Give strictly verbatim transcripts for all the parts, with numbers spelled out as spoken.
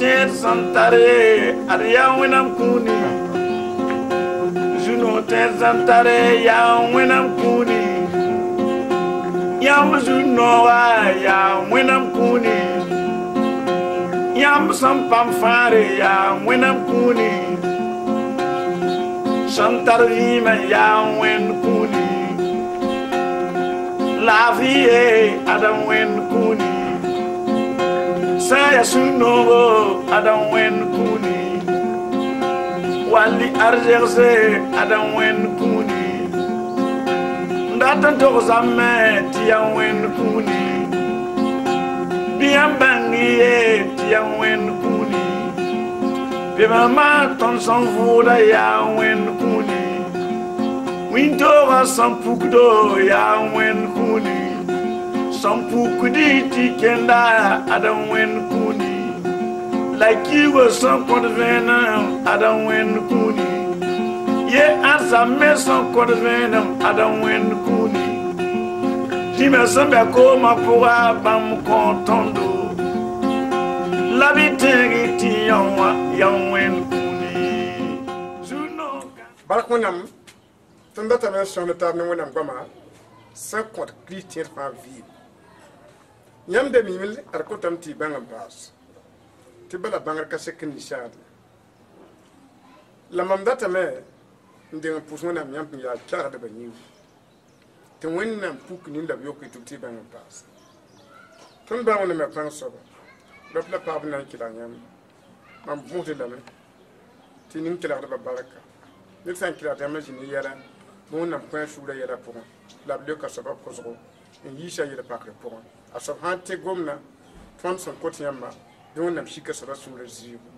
Tẽed sẽn tare ad yaa Wẽnnaam kũuni, Zu-noog tẽed sẽn tare yaa Wẽnnaam kũuni, yãmb zu-nooga yaa Wẽnnaam kũuni, yãmb sẽn pãmb fãare yaa Wẽnnaam kũuni, sẽn tar vɩɩmã yaa Wẽnd kũuni, laafɩ ye ad Wẽnd kũuni, sã n yaa sũ-noogo ad Wẽnd kũuni, wall arzegse ad Wẽnd kũuni, n dat n togsame tɩ yaa Wẽnd kũuni, bɩ yãmb bãng ye tɩ yaa Wẽnd kũuni, bɩ maa tõnd sẽn vʋʋda yaa Wẽnd kũuni, wĩntoogã sẽn pukdo yaa Wẽnd kũuni, sẽn pukdi tɩ kẽnda ad Wẽnd kũuni, la kiigã sẽn kõt vẽenem ad Wẽnd kũuni, ye ãdsam me sẽn kõt vẽenem ad Wẽnd kũuni, zĩmã sẽn bɛ koomã pʋga bãmb kõ tõndo, la bɩ tẽeg tɩ yão wã yaa Wẽnd kũuni. Zu-noogã Bark Wẽnnaam tõnd datame n sõng taab ne Wẽnnaam goama sẽn kõt Kirist tẽed fãa vɩɩm. Yãmb da miime ad kotame tɩ y bãng n paas tɩ bala bãngr ka sek n ninsaad la mam datame n deng n pʋs Wẽnnaam yãmb sẽn yaa kelgdbã yĩng tɩ Wẽnnaam puk nin la b yok y tɩ b tɩ y bãng n paas. Tõnd baa Wẽnnaam yaa pãng soaba rap la paab na n kelg yãmb mam võsd lame tɩ ning kelgdbã barka ned sã n kelgd yãmb n zĩ ne yɛla bɩ Wẽnnaam kõ a sũurã yɛla pʋgẽ la b leoka soabã kosgo n yiisa yel-pakr pʋgẽ. A soab sã n tẽ gomdã tõnd sẽn kot yãmba bɩ Wẽnnaam sika soabã sũurã zɩɩbo.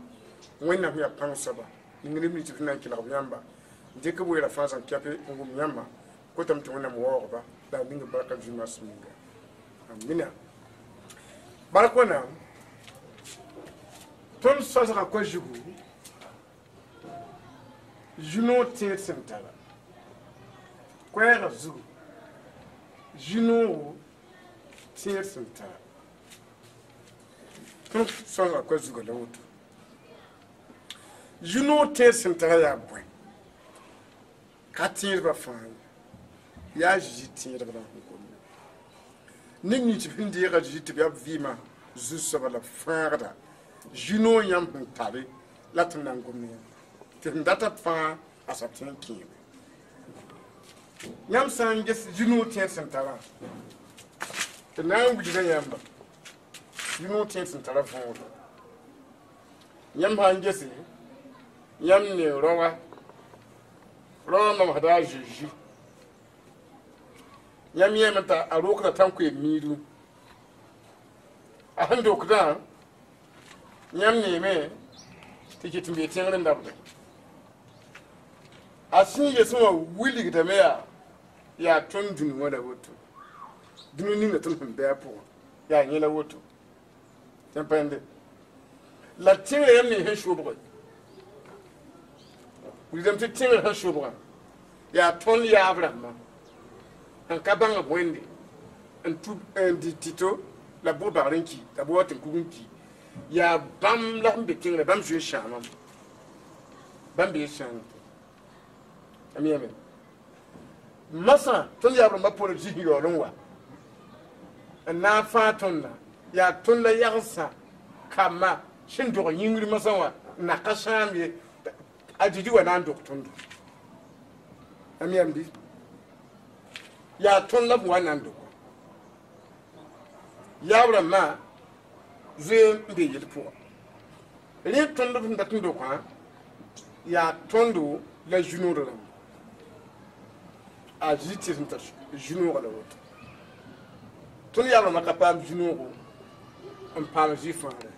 Wẽnnaam yaa pãng soaba ning neb nins sẽn na n kelg b yãmba n dɩk b weera fãa zãn kɛpe n wʋm yãmba kotame tɩ Wẽnnaam waoogba la a ning barka zu-moasã ninga. Amina. Bark Wẽnnaam tõnd sosga koa zugu zu-noog tẽed sẽn tara koɛɛgã zugu zu-noogo tẽed sẽn tara tõnd sosga koa zugã la woto zu-noog tẽed sẽn tara yaa bõe ka tẽedbã fãa ye yaa Zeezi tẽedb la sẽn gomda neb nins sẽn deega Zeezi tɩ b yaa b vɩɩmã zu-soaba la b fãagda zu-noog yãmb sẽn tare la tɩ na n gomd yãmb tɩ sẽn data fãa a soab tõe n kẽeme yãmb sã n ges zu-noog tẽed sẽn tarã tɩ na n wilga yãmba zu-noog tẽed sẽn tara võore yãmb sã n gese yãmb ne raoã raoã mamsda a Zeezi yãmb yẽeme t'a a rokda tãnkoeem miidu a sẽn dokdã yãmb neeme tɩ ket n bee tẽngr n dabda a sẽn yesẽ wã wilgdame yaa yaa tõnd dũni wã la woto dũni ninga tõnd sẽn bɩ a pʋgẽ yaa yẽ la woto tɩ pãende la tẽngrã yãmb ne sẽn sobge wilgdame tɩ tẽngrã sẽn sobgã yaa tõnd yaab rãmbã n ka bãng b Wẽnde n tub n dɩ tɩto la bʋg bagr n ki la bʋg wa tɩ n kug n ki yaa bãmb la sẽn be tẽngrã bãmb zoe n sãamame bãmb bee sãam am yãme masã tõnd yaab rãmbã pʋgr zis yaool n wa n na n fãa tõndã yaa tõnd la yagsã kambã sẽn dog yĩngr masã wã n na ka sãam ye a Zezi wa na n dog tõndo am yãmb bɩ yaa tõnd la b wa na n dogo yaab rãmbã zoe n be yel pʋga rẽ tõnd b sẽn dat n dokã yaa tõndo la zu-noor rãmba a Zezi tɩ sẽn tar zu-noogã la woto tõnd yaab rãmbã ka paam zu-noogo n paam zĩ fãagre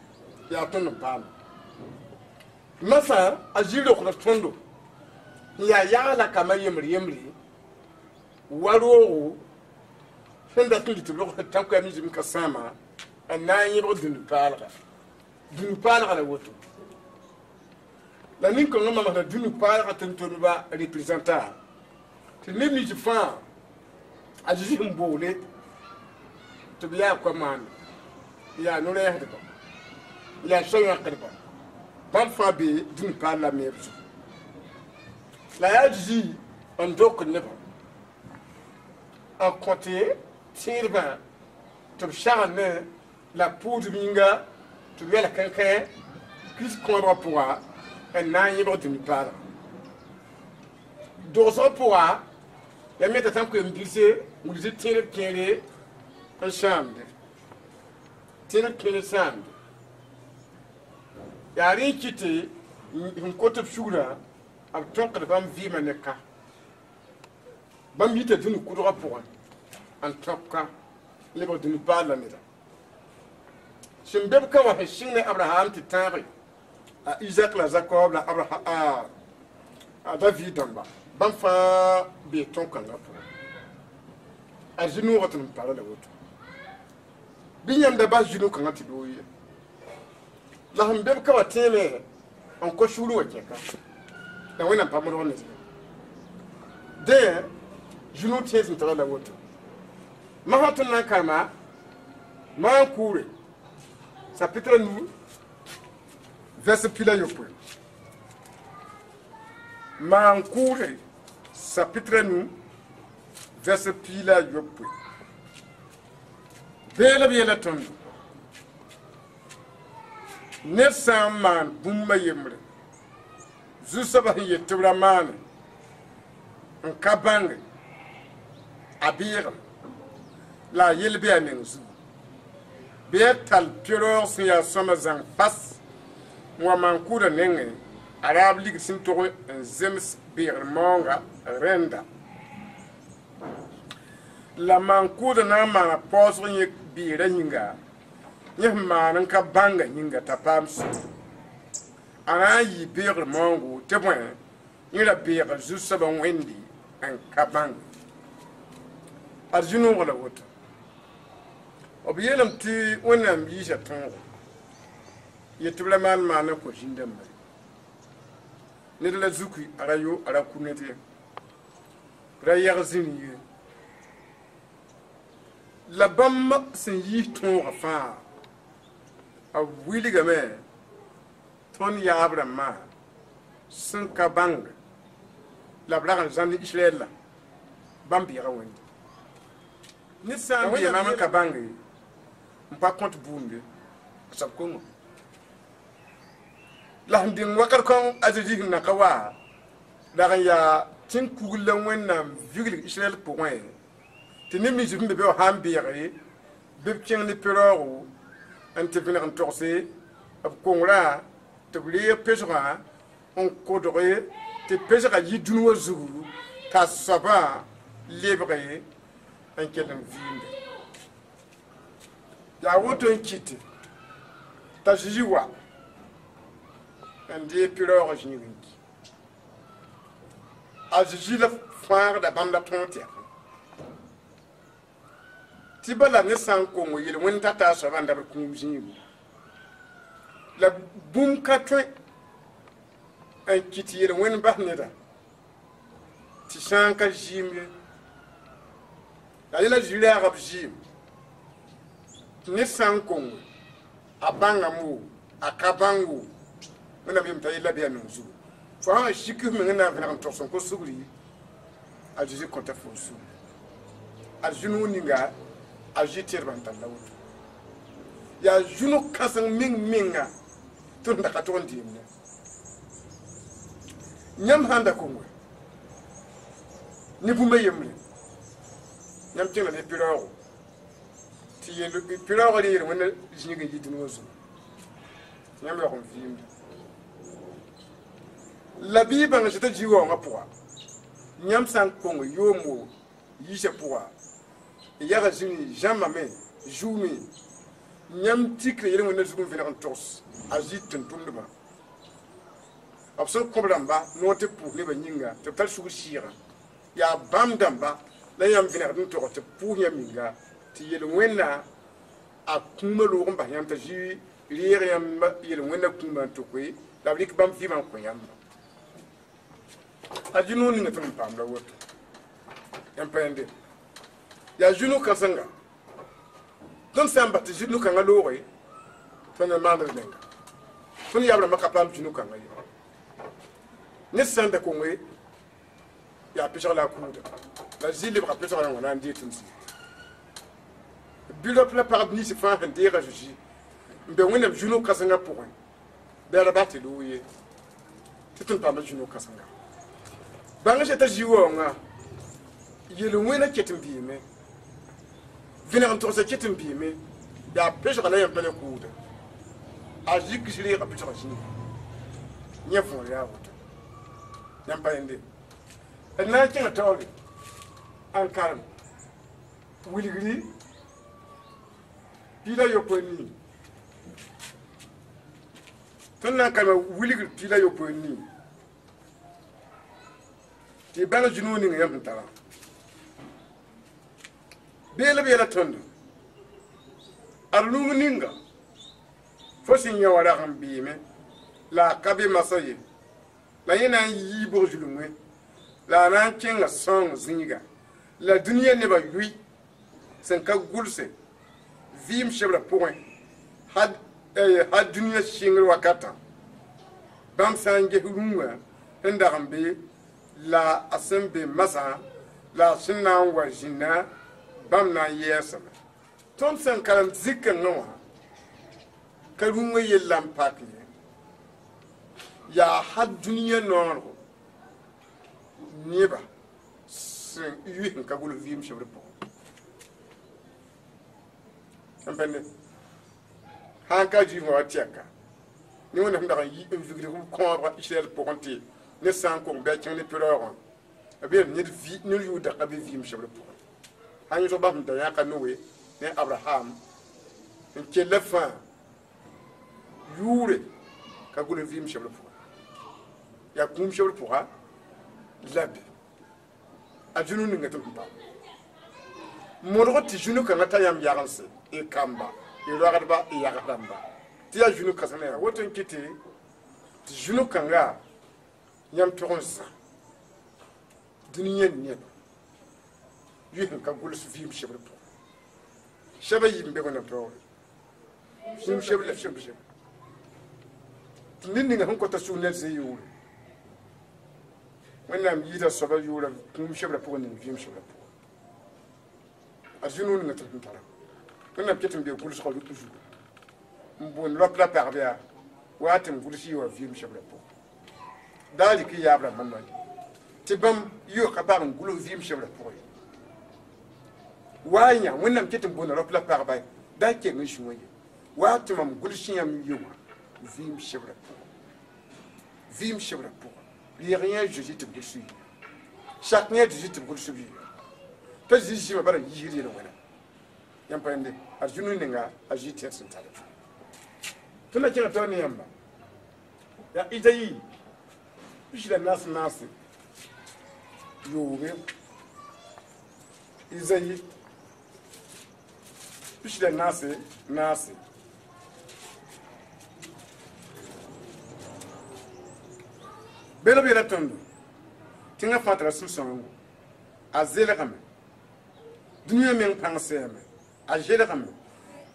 yaa tõnd n paam masã a zĩ rokda tõndo n yaa yaga la kambã yembr yembre wa roogo sẽn dat n dɩ tɩ b rog tãnkoɛɛm zĩm ka sãama n na n yẽbg dũni paalga dũni paalga la woto la nin-kãngã mamsda dũni paalga tʋm-tʋmdbã représentant tɩ neb nins fãa a Zeezi sẽn boole tɩ b yaa koa maanda yaa no-rɛɛsdba La sã yãkdba bãmb fãa be dũni paal la meeb zugu la yaa Zeezi n dok nebã n kõte tẽedbã tɩ b sagl ne la pʋʋsb yĩnga tɩ b yɛl kẽnkẽ Kirist kõobgã pʋga n na n yẽbg dũni paalga dogsg pʋga ya me t'a sã n koem bilse wilg tɩ tẽedb kẽere n sãamde tẽedb kẽere sãamde yaa rẽ n kɩtɩ n kot b sugrã b tõkd bãmb vɩɩmã ne ka bãmb yita dũni kʋdgã pʋgẽ n tõk ka lebg dũni paal la neda sẽn be b ka wã sẽn sɩng ne Abraham tɩ tãage a Isaac la Jacob la Abraham a David dãmba bãmb fãa bee tõn-kãngã pʋgẽ a zĩ-noogã tɩ n para la woto bɩ yãmb da bas zĩ-no-kãngã tɩ loog ye la sẽn be b ka wã tẽeme n kos sugr wã kẽka la Wẽnnaam pa modg ne dẽ zĩ-no tẽes n tara la woto masã tõnd na n karema maan kʋʋre chapitre nu verset pi la yopoe maan kʋʋre chapitre nu verset pi la yopoe bee la b yeela tõndo ned sã n maan bũmb a yembre zu-soabã sẽn yet tɩ b ra maane n ka bãnge a beegem la a yel bɩ a meng zugu bɩ a tall pɩraoog sẽn yaa sõma zãng fas n wa maan-kʋʋdã nengẽ a raab ligd sẽn tog n zems beegr maoonga rẽnda la maan-kʋʋdã na n maana paoosg yẽ beerã yĩnga yẽ sẽn maan n ka bãnga yĩnga t'a paam sugr a na n yɩ beegr maoongo tɩ bõe yẽ ra beega zu-soabã wẽnde n ka bãnge a zĩ-noogã la woto b yeelame tɩ Wẽnnaam yiisa tõogo yet tɩ b ra maan maan n kõ zĩn-dãmba ned la zuki a ra yo a ra ku ned ye ra yɛg zĩni ye la bãmb sẽn yiis tõogã fãa b wilgame tõnd yaab rãmbã sẽn ka bãng la b rag n zãmb Israɛl la bãmb beega Wẽnde ned sã n bee maam n ka bãnge n pa kõt buunde a soab kongo la sẽn dĩng wakat kõn a Zeezi sẽn na ka wa rag n yaa tẽn-kugl la Wẽnnaam vigl Israɛl pʋgẽ tɩ neb nins sẽn be be wã sã n beege bɩ b kẽng ne pɩraoogo n tɩ vẽneg n togse b kongrã tɩ b reeg pesgã n kodge tɩ pesgã yi dũni wã zugu t'a soabã lebge n kell n vɩɩmde yaa woto n kɩte t'a Zeezi wa n deeg pɩraoogã zĩig n ki a Zeezi la fãagda bãmb la tõog tɛk tɩ bala ne sã n kong yel-wẽnd t'a taa soabã n dabd kũum zĩigu la bũmb ka tõe n kɩt yel-wẽnd bas neda tɩ sã n ka zɩɩm ye la yẽla zĩ-raagã b zɩɩm tɩ ned sã n kong a bãngame wo a ka bãng wo Wẽnnaam yem t'a yella bɩ a meng zugu fo sã n sik f meng n na n vẽneg n togs n kos sugri a Zeezi kõta fo sugri a zĩ-noog ninga a zĩ tẽedbã n tar la woto yaa zũ-no kãseng meng menga tɩ d da ka tog n deemdẽ yãmb sã n da konge ne bũmb a yembre yãmb kẽngda ne pɩraoogo tɩ pɩraoogã re yel-wẽnda zĩig n yi dũni wã zugu yãmb yaoog n vɩɩmde la bɩ y bãng sɩ t'a zĩ waoongã pʋga yãmb sã n kong yoomo yiisã pʋga y yaga zĩni zãmbame zuume yãmb tikra yel-wẽnda zug n vẽneg n togs a zĩ tʋm-tʋmdbã b sẽn kõb rãmba noor tɩ pʋʋs nebã yĩnga tɩ b tar sugr sɩɩgã yaa bãmb dãmba la yãmb vẽnegd n tog tɩ b pʋʋs yãmb yĩnga tɩ yel-wẽnna a kũumã loog n bas yãmb t'a zĩ reeg yãmb yel-wẽnna kũumã n tokoe la b rɩk bãmb vɩɩmã n kõ yãmba a zĩ-noog ninga tõnd n paam la woto yãmb pa yẽnde yaa zĩ-no kãsenga tõnd sã n bas tɩ zĩ-no-kãngã looge tõnd n maand d menga Tõnd yaab rãmbã ka paam zũnu-kãngã ye ned sã n da konge yaa pesg la a kuuda la zɩ lebga pesg rãngã na n dee tɩ m zĩig bɩ rap la pagb nins fãa sẽn deeg a Zeezi n be Wẽnnaam zũnu kãsengã pʋgẽ bɩ a ra bas tɩ loog ye tɩ tõnd paama zũnu kãsenga bãng sẽn ta zĩ waoongã yel-wẽnã ket n biime vẽneg n togsã ket n biime yaa pesga la yãmb pa ne kuuda a zikis reega pesga zĩiga yẽ võor yaa woto yãmb pa yẽnde d na n kẽngã taoore n karem wilgri piig la yopoe nii tõnd na n karema wilgr piig la yopoe nii tɩ y bãng zũnug ning yãmb sẽn tara beel b yɛla tõndo ad rũng ninga fo sẽn yã wã rag n beeme la a ka be masã ye la yẽ na n yii bg zulmẽ la a na n kẽnga sõong zĩiga la dũniyã nebã yʋɩ sẽn ka gʋlse vɩɩm sebrã pʋgẽ hal dũniyã sɩngr wakatã bãmb sã n ges rũngã sẽn dag n be la a sẽn be masã la a sẽn na n wa zĩnã bãmb na n yɛɛsame tõnd sẽn karem zikãngã wã ka rũngã yella n pak ye yaa hal dũniyã noorgo neba sẽn yʋ sẽn ka gʋls vɩɩm sebr pʋgẽ n pẽnde sã n ka zuif wã wa tɛka ne Wẽnnaam sẽn dag n yi n vigd b kõobga Israɛl pʋgẽ tɩ ned sã n kong bɩ a kẽng ne pɩraoogã b yeel ned ned yʋʋda ka be vɩɩm sebr pʋgẽ sã n yõsg bãmb sẽn da yãka Noe ne Abraham n kella fãa yʋʋre ka gʋls vɩɩm sebr pʋgẽ yaa kũum sebr pʋga la be a zũnu ninga tɩ m paam modg tɩ zũnu kãngã ta yãmb yagense y kamba y roagdba y yags rãmba tɩ yaa zũnu kãsengã yaa woto n kɩtɩ tɩ zũnu kãnga yãmb tʋg n zã dũniyã neba yʋ sẽn ka gʋls vɩɩm sebr pʋgẽ sɛba yiib n be Wẽnnaam taoore kũum sebr la sebr sebr tɩ ned ninga sẽn kota sug ned zĩ yʋʋre Wẽnnaam yɩɩda soaba yʋʋra kũum sebrã pʋgẽ ning vɩɩm sebrã pʋgẽ a zũnu ninga tɩ sẽn tara Wẽnnaam ket n bee gʋlsgã zugu n boond rap la pagb yaa wa tɩ m gʋls yɩ wã vɩɩm sebrã pʋgẽ daa rɩk y yaab rãmbã noy tɩ bãmb yʋ ka paam n gʋls vɩɩm sebrã pʋgẽ wa yã Wẽnnaam ket n boonda rap la pagba da keng n sũwã ye wa tɩ mam gʋls yãmb ye wã vɩɩm sebrã pʋgẽ vɩɩm sebrã pʋgẽ reeg yẽ a Zeezi tɩ b gʋls yɩ sak yẽ a Zeezi tɩ b gʋls yɩ t'a zĩ zĩmã bara yiisd yel-wẽna yãmb pa yẽnde a zũnu ninga a zĩ tẽed sẽn tara tõnd na kẽngã taoor ne yãmba yaa Izayi pis la naas naase yooge Izayi pis la naase naase beel b yɛla tõndo tẽngã fãa tara sũ-sãoongo a zelgame dũniyã meng pãng sɛɛme a zelgame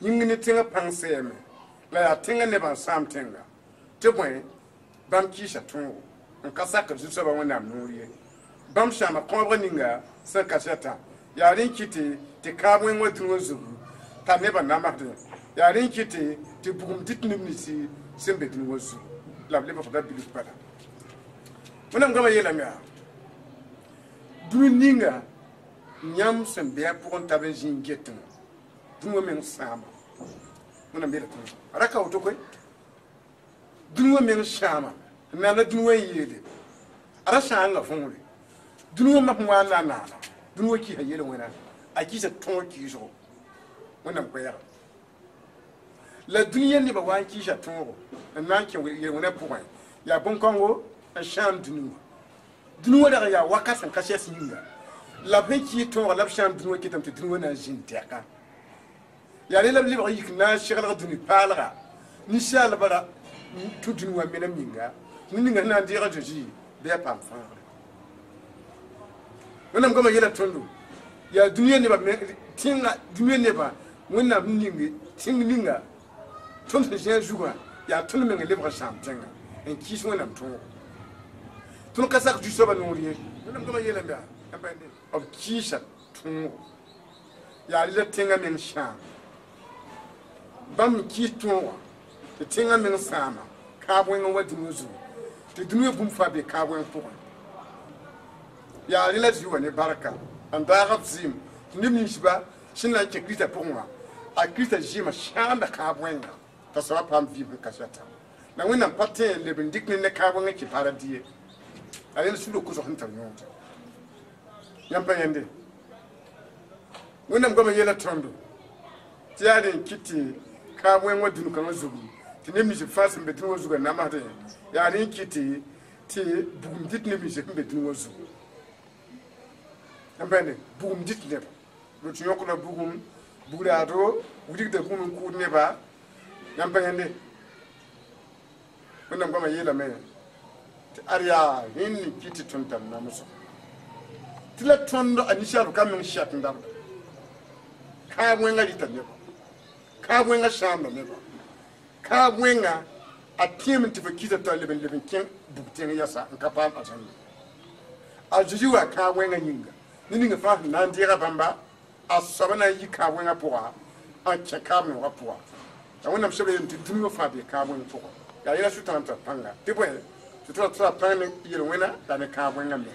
yĩng ne tẽngã pãng sɛɛme la yaa tẽngã nebã n sãam tẽnga tɩ bõe bãmb kɩɩsa tõogo n ka sakd zu-soabã Wẽnnaam noor ye bãmb sãama kõobg ninga sẽn ka sɛta yaa rẽ n kɩtɩ tɩ kãab wẽng wã dũniyã zugu t'a nebã namsdẽ yaa rẽ n kɩtɩ tɩ bugum dɩt neb ninsi sẽn be dũniyã zugu la b lebgda bilf bala Wẽnnaam goamã yeelame yaa dũni ninga yãmb sẽn be a pʋgẽ tab n zĩ n getẽ dũniyã meng sãama Wẽnnaam yeela tõndo a ra ka woto koe dũniyã meng sãama n naana dũniyã n yeele a ra sãanga võore dũniyã map n wa n na n naana dũniyã kɩɩsa yel-wẽna a kɩɩsa tõog kɩɩsgo Wẽnnaam koɛɛga la dũniyã nebã wa n kɩɩsa tõogo n na n kẽ yel-wẽnã pʋgẽ yaa bõn-kãngo n sãam dũni wã dũni wã rag n yaa wakat sẽn ka sɛs yĩnga la b sẽn kɩɩ tõoga la b sãam dũni wã ketame tɩ dũni wã na n zĩnd tɛka yaa rẽ la b lebg yik na n seglg dũni paalga ninsaalbã ra tũ dũni wã menem yĩnga ned ninga sẽn na n deeg a Zeezi bɩ a paam fãagre Wẽnnaam goamã yeela tõndo yaa dũniyã nebã tẽnga dũniyã nebã Wẽnnaam ning tẽng ninga tõnd sẽn zĩ a zugã Yaa tõnd meng n lebg n sãam tẽngã n kɩɩs Wẽnnaam tõogo. Tõnd ka sak zu-soabã noor ye. Wẽnnaam goamã yeelame yaa b kɩɩsa tõogo. Yaa rɩ la tẽngã meng sãam. Bãmb n kɩɩs tõogã tɩ tẽngã meng sãama kaab wẽng n wa dũniyã zugu tɩ dũniyã bũmb fãa be kaab wẽng pʋgẽ. Yaa rẽ la zĩ wa ne barka n daag b zɩɩm tɩ neb ninsba sẽn na n kẽ Kiristã pʋgẽ wã a Kiristã zɩɩmã sãamda kaab wẽnga t'a soaba paam vɩɩm sẽn ka sɛta. La Wẽnnaam pa tẽ n leb n dɩk ne kaab wẽng n kẽ paradis ye. A rẽnd sugr kosg sẽn tar yõod. Yãmb pa yẽnde. Wẽnnaam goamã yeela tõndo tɩ yaa rẽ n kɩt tɩ kaab wẽng wã dũni-kãngã zugu tɩ neb nins fãa sẽn be dũni wã zugã namsdẽ yaa rẽ n kɩt tɩ bugum dɩt neb nins sẽn be dũni wã zugu. Yãmb pa yẽnde bugum dɩt neba. Tɩ yõkda bugum bugraado wilgda bugum n kʋʋd neba. Yãmb pa yẽnde. Wẽnnaam goamã yeelame tɩ ad yaa rẽnd n kɩt tɩ tõnd tar namsg. Tɩ la tõnd a ninsaalb ka meng sɛt n dabda. Kaab wẽngã rɩta neba. Kaab wẽngã sãamda neba. Kaab wẽngã a tẽem tɩ fo kɩsa t'a leb n leb n kẽ bug tẽng yɛsa n ka paam azãnda. A Zeezi wa kaab wẽngã yĩnga. Ne ninga fãa sẽn na n deega bãmba a soaba na n yi kaab wẽngã pʋga n kẽ kaab noogã pʋga. La Wẽnnaam sebra yeelame tɩ dũniyã fãa be kaab wẽng pʋgẽ. Yaa yẽla sʋtãan tara pãnga. Tɩ bõe tɩ tɩ ra pãng ne yel-wẽna la ne kaab wẽngã me.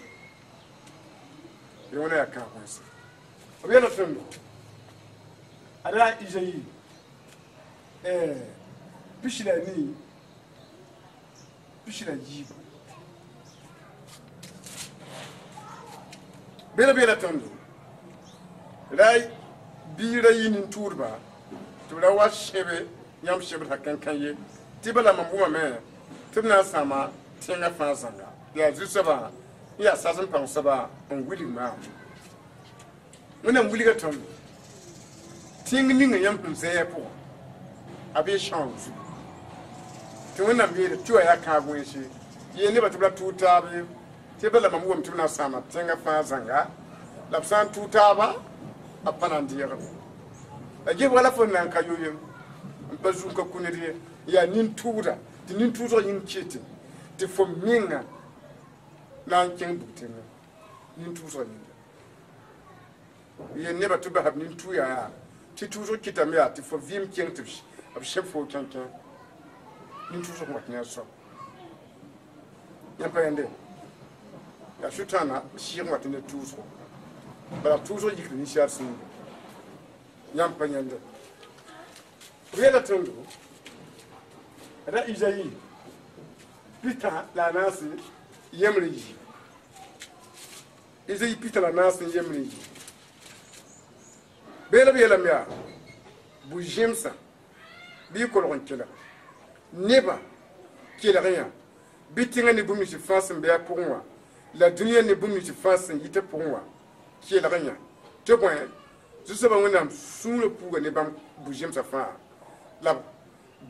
Yel-wẽna yaa kaab wẽnse. B yeela tõndo ad yaa Izayi pisi la nii pisi la yiibu. Beela beela tõndo ra biig ra yi nin-tʋʋdba tɩ b ra wa sẽbe yãmb sebd sã kãnkã ye tɩ bala mam wʋmame tɩ b na n sãama tẽngã fãa zãnga yaa zu-soabã n yaa sas n pãng soaba n wilg maam. Wẽnnaam wilga tõndo tẽng ninga yãmb sẽn zẽe pʋgã a bee sãoong zugu tɩ Wẽnnaam yeele tɩ wa yaa kãab wẽnse yeel nebã tɩ b ra tʋʋg taab ye tɩ bala mam wʋmame tɩ b na n sãama tẽngã fãa zãnga la b sã n tʋʋg taaba b pa na n deegbe. La gebga la fo n na n ka yo yem n pa zu n ka kũ ned ye yaa nin-tʋʋda tɩ nin-tʋʋsg yĩng kɩtẽ tɩ fo menga na n kẽng bug tẽngã nin-tʋʋsg yĩnga. Yeel nebã tɩ b basa b nin-tʋ yaa tɩ tʋʋsg kɩtame yaa tɩ fo vɩɩm kẽng tɩ b sẽb fo kẽnkẽ nin-tʋʋsg wat ne a soab. Yãmb pa yẽnde yaa sʋtãana sɩɩg n wat ne tʋʋsgo bala tʋʋsg yikd ninsaal sũurẽ. Yãmb pa yẽnde. B yeela tõndo ra Izayi pita la a naase yembre yiib. Izayi pita la a naas n yembre yiib. Beela b yeelame yaa bu-zẽmsã bɩ y kolg n kelg nebã kelg yã bɩ tẽngã ne bũmb nins fãa sẽn be a pʋgẽ wã la dũniyã ne bũmb nins fãa sẽn yit a pʋgẽ wã kelg yã tɩ bõe zu-soabã Wẽnnaam sũurã puuga ne bãmb bu-zẽmsã fãa la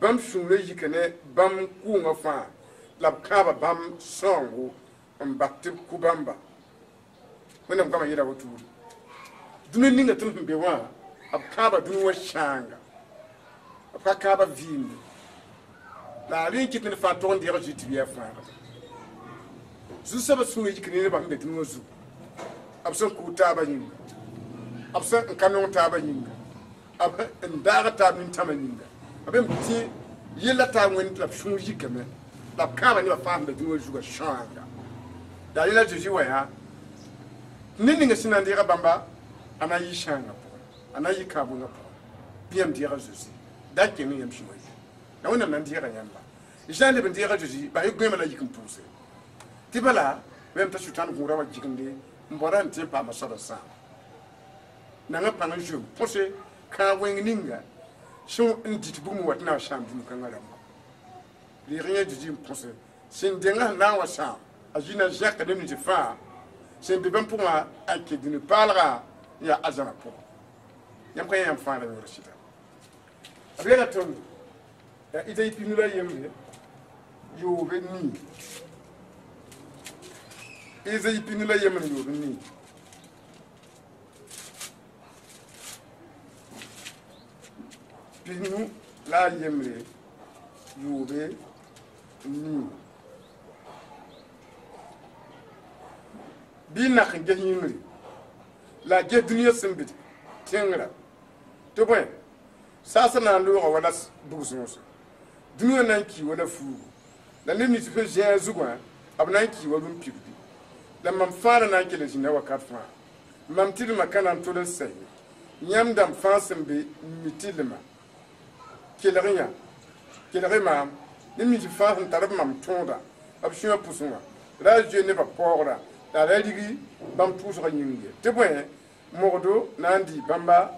bãmb sũurã yika ne bãmb kʋʋngã fãa la b kãaba bãmb sãoongo n bas tɩ b kʋ bãmba. Wẽnnaam goamã yeela wotoore dũni ninga tõnd sẽn be wã b kãaba dũni wã sãanga b ka kãaba vɩɩmde la a rẽ n kɩt ned fãa tog n deeg zĩ tɩ b yaa fãagda. Zu-soabã sũurã yik ne nebã sẽn be dũni wã zugu b sẽn kʋʋd taabã yĩnga b sẽn n ka nong taabã yĩnga b n daag taab nin-tãmã yĩnga b m tẽ yella taab wẽnd la b sũur yikame la b kãaba nebã fãa sẽn be dũni wã zugã sãanga. La rẽ la Zeezi wa yaa ned ninga sẽn na n deega bãmba a na n yɩ sãangã pʋgẽ a na n yɩ kãab wẽngã pʋgẽ bɩ yãmb deega Zeezi da keng yãmb sũurã ye la Wẽnnaam na n deega yãmba. Y sã n leb n deega Zeezi bas y goẽmã la yik n pʋʋse tɩ bala yãmb t'a sʋtãan gũudã wa gigende n baoda n tẽ n paama soaba sãam. Nanga pãng n zoe põse kãab wẽng ninga sẽn n dɩt bugum wa tɩ na n sãam dũni-kãngã rãmba. Reeg yẽ Zeezi n põse sẽn denga sẽn na n wa sãam a zĩ na n zẽka neb nins fãa sẽn be bãmb pʋgã a kẽ dũni paalga n yaa arzãna pʋgẽ. Yãmb ka yã yãmb fãa la yõor sɩda. B yeela tõndo yaa Izayi pinu la yembre yoobe nii. Izayi pinu la yembre yoobe nii. Pinu la a yembre yoobe nii bɩ nak n ges yĩngri la a ges dũniyã sẽn bɩ tẽngrã tɩ bõe saasã na n looga wala bug-sõose dũniyã na n kii wala fuugu la neb nins sẽn zẽa zugã b na n kii wa rũm-pibgi la mam fãa na n kell n zĩnda wakat fãa mam tɩlmã ka na n tol n sɛ ye yãmb dãmb fãa sẽn be n mi tɩlmã kelg yã kelg maam neb nins fãa sẽn tar b mam tõoda b sũyã pʋsẽ wã ra a zoe nebã paoogrã la ra rigi bãmb tʋʋsgã yĩng ye tɩ bõe mogdo na n dɩ bãmba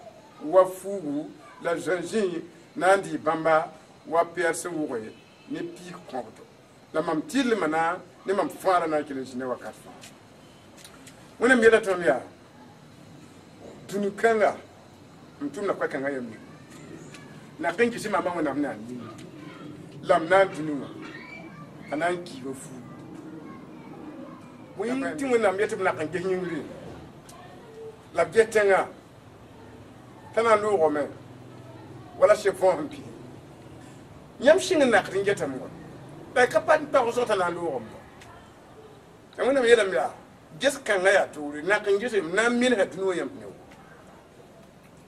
wa fuugu la zãnzĩ na n dɩ bãmba wa pɛɛr sẽn wʋge ne piig kõbdo la mam tɩlmã na ne mam fãara na n kell n zĩnda wakat fãa wẽnnaam yeela tõnd yaa dũni kãnga n tʋmda koɛ-kãngã yam ning nak n gɩs maamã wẽnnaam na n ning la m na n dũni wã a na n kiiba fuugu bõe tɩ wẽnnaam yet tɩ b nak n ges yĩngri la b ges tẽngã t'a na n loogame wala seb võos n pii yãmb sɩng n nakd n getame wa la ka pa n pag zog t'a na n loogame wa la wẽnnaam yeelame yaa ges kãngã yaa toore nak n gese m na n mensa dũni wã yãmb ne wa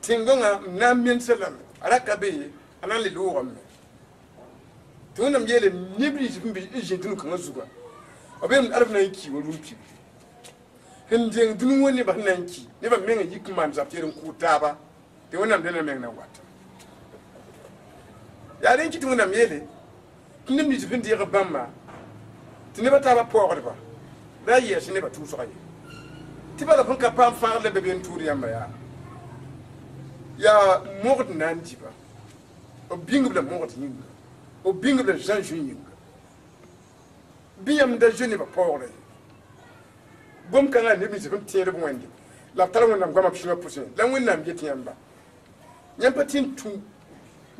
tẽn-gõngã m na n mensa lame a ra ka be ye a na n le loogame tɩ wẽnnaam yeele neb nins sẽn be n zĩ dũni kãngã zuga b yeelame alf na n kii wa rũm-pibgi sẽn deng dũni wã nebã sẽn na n ki nebã meng n yik n maan zab tɩ n kʋʋd taaba tɩ wẽnnaam dẽnda meng na n wata yaa rẽn kɩ tɩ wẽnnaam yeele tɩ neb nins sẽn deeg bãmba tɩ nebã taabã paoogdba ra a yɛɛs nebã tʋʋsga ye tɩ bala sẽn ka paam fãagd la be be n tʋʋd yãmba yaa yaa mogd na n dɩba b bĩngb la mogd yĩnga b bĩngb la zã-zũ yĩnga bɩ yãmb da zoe nebã paoogrã ye gom-kãngã neb nins sẽn tẽed b wẽnde la b tar wẽnnaam goamã b sũyã pʋsẽ la wẽnnaam get yãmba yãmb pa tɩ n tũ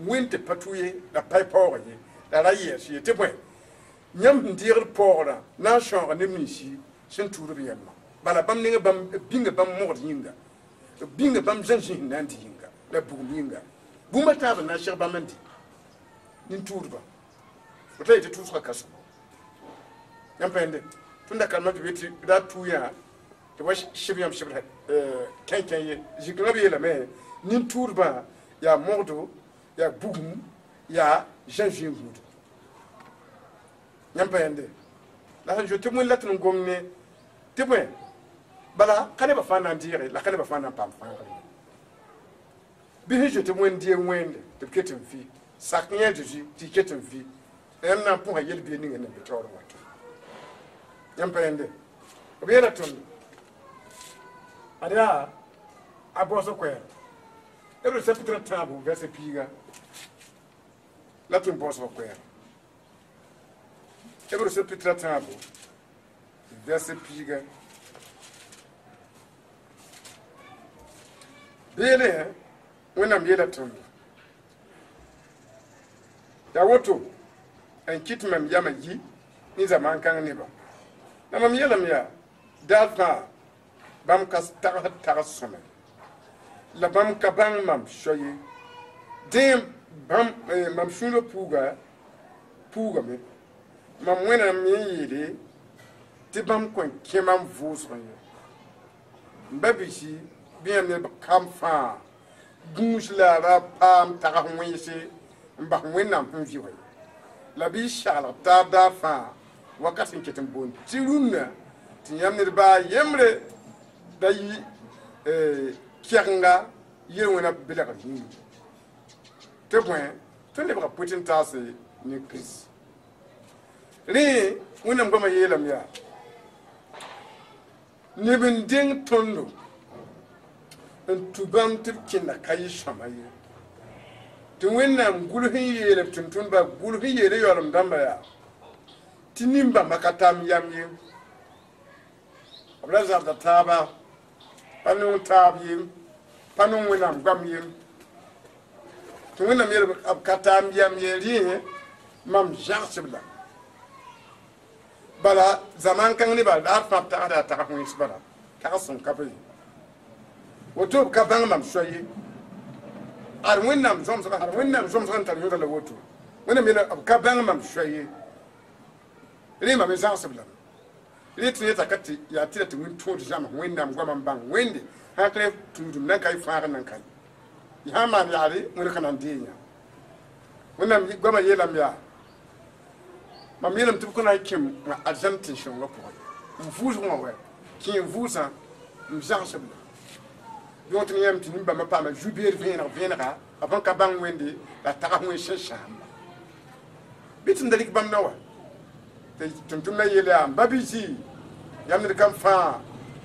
wẽnd tɩ pa tʋ ye la pa y paoog ye la ra yɛɛs ye tɩ bõe yãmb sẽn deegd paoogrã na n sãooga neb ninsi sẽn tuud b yɛmma bala bãmb nengã bãmb b bĩnga bãmb mogd yĩnga b bĩnga bãmb zã-zĩ sẽn na n dɩ yĩnga la bugum yĩnga bũmb a taab n na n seg bãmb n dɩ nin-tuudba b ta yetɩ tʋʋsgã ka sõma yãmb pa yẽnde tõnd da karema tɩ be tɩ ra tʋ yã tɩ wa sɩb yãmb sɩbd kẽnkẽ ye zĩ-kãngã b yeelame nin-tuudbã yaa mogdo yaa bugum yaa zã-zĩ gũudo yãmb pa yẽnde la sẽn zoe tɩ wẽnd la tɩ n gom ne tɩ bõe bala ka nebã fãa na n deege la ka nebã fãa na n paam fãagre bɩ sẽn zoe tɩ wẽnd deeg wẽnde tɩ b ket n vɩ sak yã Zeezi tɩ y ket n vɩ yãmb na n pʋsa yel-biig ninga na n be taoor wato yãmb pa yẽnde b yeela tõnd ad yaa a baoosg koɛɛg b chapitre tãabo verset piiga la tõnd baoosg koɛɛg Hébreu chapitre tãabo verset piiga beele wẽnnaam yeela tõndo yaa woto n kɩt mam yamã yi ne zamaan kãng nebã la mam yeelame yaa daar fãa bãmb ka tagsd tags sõma la bãmb ka bãng mam so ye dẽ bãmb mam sũurã puuga puugame mam wẽnnaam me n yeele tɩ bãmb kõn kẽ mam vʋʋsgẽ ye n ba bisi bɩ yãmb neb kam fãa gũus la ra paam tags wẽnse n bas wẽnnaam sẽn vɩ wa ye la bɩ y saglg taab daar fãa wakat sẽn ket n boond tɩ rũnnã tɩ yãmb ned baa yembre da yɩ kɛgenga yel-wẽna belgr yĩnga tɩ bõe tõnd lebga pʋt n taase ne Kirist rẽ wẽnnaam goamã yeelame yaa neb n deng tõndo n tũ bãmb tɩ b kẽnda ka yɩ sõma ye tɩ wẽnnaam gʋls n yeel b tʋm-tʋmdbã gʋls n yeele yaoolem dãmba yaa tɩ nin-bãmba ka tam yam ye b ra zabda taaba pa nong taab ye pa nong wẽnnaam goam ye tɩ wẽnnaam yeel b ka taam yam ye rẽ mam zãgsb la bala zaman kãng nebã la fãa b tagsda a tags wẽns bala tags sẽn ka be woto b ka bãng mam soa ye ad wẽnnaam zõmsga ad wẽnnaam zõmsga n tar yõda la woto Wẽnnaam yeela b ka bãng mam soa ye rẽ mam zãgsb lame rẽ tɩ yeta ka tɩ yaa tɩ la tɩ wẽn tõod zãms Wẽnnaam goamã n bãng Wẽnde sã ka tũudum nan ka y fãagr nan ka ye sã n maan yaare wẽnd ka na n dee yã Wẽnnaam goamã yeelame yaa mam yeelame tɩ b kõ na n kẽm arzãn tẽn-sõngã pʋgẽ n vʋʋsg wã wɛ kẽ n vʋʋsã n zãgsb la yõ tɩ yãmb tɩ nin-bãmbã paama zu-beed vẽeneg vẽenega b sẽn ka bãng Wẽnde la tags wẽn sẽn sãamba bɩ tɩ n da rɩk bãmb na wa tɩ tʋm-tʋmdã yeel yaa n ba bɩ yãmb ned kam fãa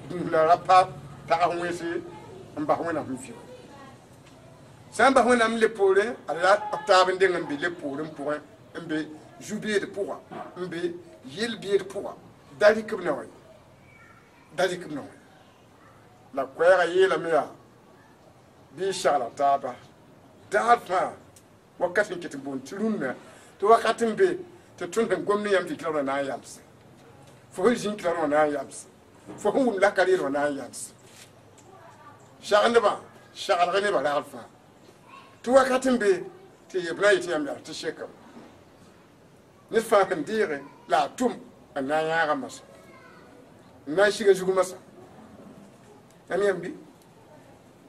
dũus la ra pa tags wẽnse n bas Wẽnnaam sẽn vɩ sã n bas Wẽnnaam le poorẽ ad la b taab n deng n be le poorẽ pʋgẽ n be zu-beed pʋga n be yel-beed pʋga da rɩk b na wa da rɩk b na wa la koɛɛgã yeelame yaa bɩ y segla taaba daar fãa wakat n ket n boond tɩ rũnnã tɩ wakat n be tɩ tõnd sẽn gom ne yãmb tɩ kɩla na n yalse fo sẽn zĩig kɩla na n yalse fo sẽn wʋm laka reer wã na n yalse segendbã seglg nebã ragl fãa tɩ wakat n be tɩ b na n yetɩ yãmb yaa tɩ sekame ned fãa sẽn deege la a tʋm n na n yãaga masa n na n siga zug masa yãmb yãmb bɩ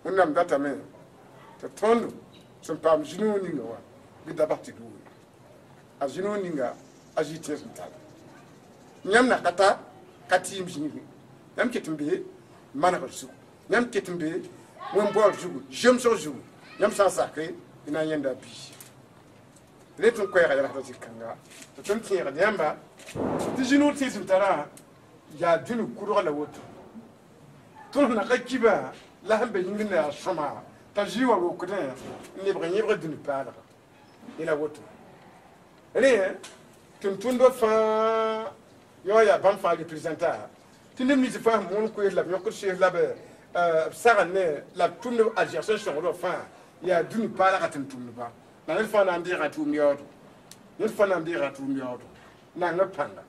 Wẽnnaam datame tɩ tõnd sẽn paam zĩ-noog ninga wã bɩ da bas tɩ duure a zĩ-noog ninga a zĩ tẽes n tara yãmb na ka ta ka tɩɩm zĩigẽ yãmb ket n be manegr zugu yãmb ket n be wẽn-baood zugu zemsg zugu yãmb sã n sake y na n yẽnda a biisi rẽ tɩ n koɛɛga yɛlsda zĩ-kãnga tɩ tõnd tẽegd yãmba tɩ zĩ-noog tẽes n tarã yaa dũni kʋdg la woto tõnd na ka kiba la sẽn be yĩngr na yaa sõma t'a zĩ wã rokdẽ n lebg yẽbg dũni paalga yẽla woto rẽ tʋm-tʋmdbã fãa yõ yaa bãmb fãa représenta tɩ neb nins fãa sẽn moon koees la b yõkd sees la b b sagl ne la b tʋmd a sẽn sõgdbã fãa yaa dũni paalga tʋm-tʋmdba la ned fãa na n deega tʋʋm yaoodo ned fãa na n deega tʋʋm yaoodo nang b pãnga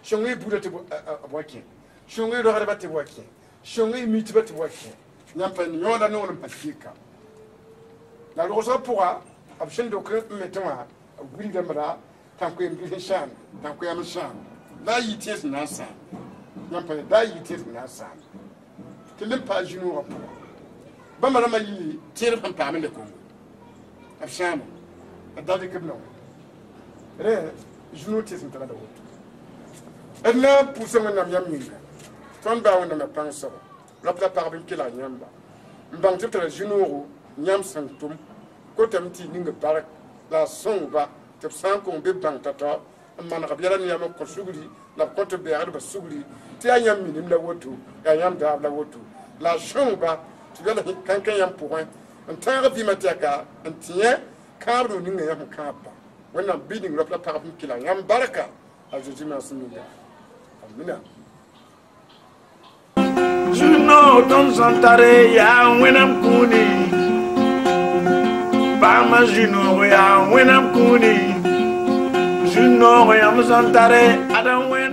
sõng y buudã tɩ b wa kẽ sõng y rogdbã tɩ b wa kẽ sõng y mitbã tɩ b wa kẽ yãmb pa yõoda noor n pa kɩka la rogsgã pʋga b sẽn dok n metẽ wã b wilgame ra tãn-koeem sẽn sãamde tãn-koɛɛm n sãamde la a yɩ tẽes n na n sãam yãmb pa da a yɩ tẽes n na n sãam tɩ lem paa zĩ-noogã pʋga bãmba rãmbã yɩ tẽedb sẽn paam n le Kongo b sãamo b da dɩk b na wã rẽ zĩ-noog tẽes n tara la woto d na n pʋʋsa Wẽnnaam yam yĩnga tõnd baa Wẽnnaamã pãng soaba rap la pagb n kelg yãmba n bãng tɩ b tara zĩ-noogo yãmb sẽn tʋm kotame tɩ y ning bark la a sõngba tɩ b sã n kong be bãng tao-tao n maneg b yɛla ne yãmb n kõ sugri la b kõ tɩ bɛɛgdbã sugri tɩ yaa yãmb minim la woto yaa yãmb daab la woto la a sõngba tɩ b yɛl kãnkã yãmb pʋgẽ n tãag vɩɩmã tɛka n tẽ kãab no ninga yãmb sẽn kãabba Wẽnnaam bɩ ning rap la pagb n kelg yãmb barka a Zeezi maasem ninga amina. Zĩ-noog tõnd sẽn tare yaa Wẽnnaam kũuni paama zĩ-noog yaa Wẽnnaam kũuni zĩ-noog yãmb sẽn tare ada Wẽnnaam.